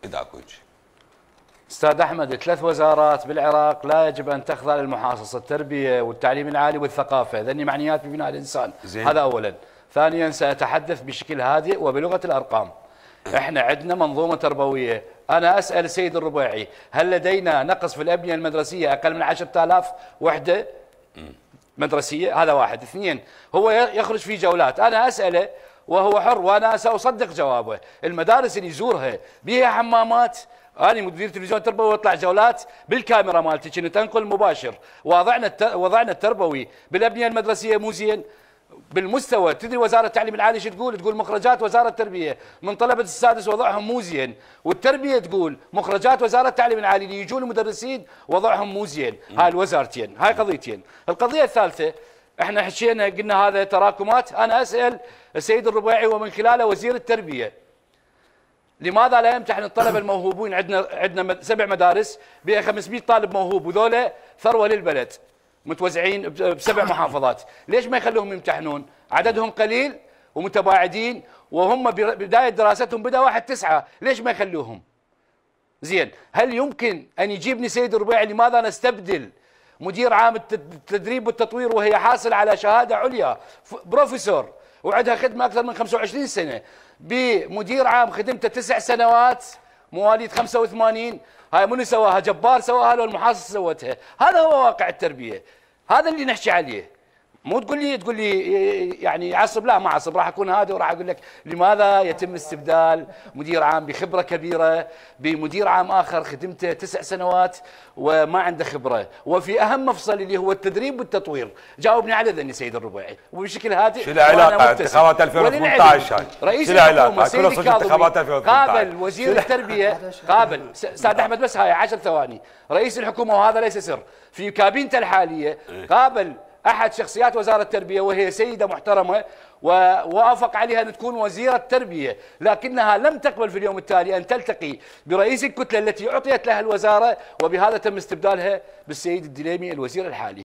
اذا اكو شيء. استاذ احمد، 3 وزارات بالعراق لا يجب ان تخضع للمحاصصه، التربيه والتعليم العالي والثقافه، ذني معنيات ببناء الانسان. زين. هذا اولا. ثانيا، ساتحدث بشكل هادئ وبلغه الارقام. احنا عندنا منظومه تربويه. انا اسال السيد الربيعي، هل لدينا نقص في الابنيه المدرسيه اقل من 10,000 وحده مدرسيه؟ هذا واحد. اثنين، هو يخرج في جولات، انا اساله وهو حر وانا ساصدق جوابه. المدارس اللي يزورها بها حمامات؟ أنا مدير تلفزيون تربوي واطلع جولات بالكاميرا مالتي كنت انقل مباشر. وضعنا التربوي بالابنيه المدرسيه مو زين بالمستوى. تدري وزاره التعليم العالي شو تقول؟ تقول مخرجات وزاره التربيه من طلبه السادس وضعهم مو زين، والتربيه تقول مخرجات وزاره التعليم العالي اللي يجون المدرسين وضعهم مو زين. هاي الوزارتين، هاي قضيتين. القضيه الثالثه، احنا حكينا قلنا هذا تراكمات. انا اسال السيد الربيعي ومن خلاله وزير التربيه، لماذا لا يمتحن الطلبه الموهوبين؟ عندنا 7 مدارس بها 500 طالب موهوب، وذولا ثروه للبلد متوزعين ب7 محافظات، ليش ما يخلوهم يمتحنون؟ عددهم قليل ومتباعدين، وهم بدايه دراستهم بدا 1/9، ليش ما يخلوهم؟ زين، هل يمكن ان يجيبني سيد الربيعي لماذا نستبدل مدير عام التدريب والتطوير وهي حاصل على شهاده عليا بروفيسور وعندها خدمه اكثر من 25 سنه بمدير عام خدمته 9 سنوات مواليد 85؟ هاي منو سواها؟ جبار سواها لو المحاصصه سوتها؟ هذا هو واقع التربيه، هذا اللي نحكي عليه. مو تقول لي يعني عصب، لا ما عصب، راح اكون هادئ وراح اقول لك لماذا يتم استبدال مدير عام بخبره كبيره بمدير عام اخر خدمته 9 سنوات وما عنده خبره، وفي اهم مفصل اللي هو التدريب والتطوير. جاوبني على ذني سيد الربيعي وبشكل هادئ. شو العلاقه انتخابات 2018 هاي؟ رئيس شو العلاقه؟ سيدي انتخابات 2018 قابل وزير التربيه، قابل استاذ احمد، بس هاي 10 ثواني. رئيس الحكومه، وهذا ليس سر، في كابينته الحاليه قابل احد شخصيات وزاره التربيه وهي سيده محترمه، ووافق عليها ان تكون وزيره التربيه، لكنها لم تقبل في اليوم التالي ان تلتقي برئيس الكتله التي اعطيت لها الوزاره، وبهذا تم استبدالها بالسيد الدليمي الوزير الحالي.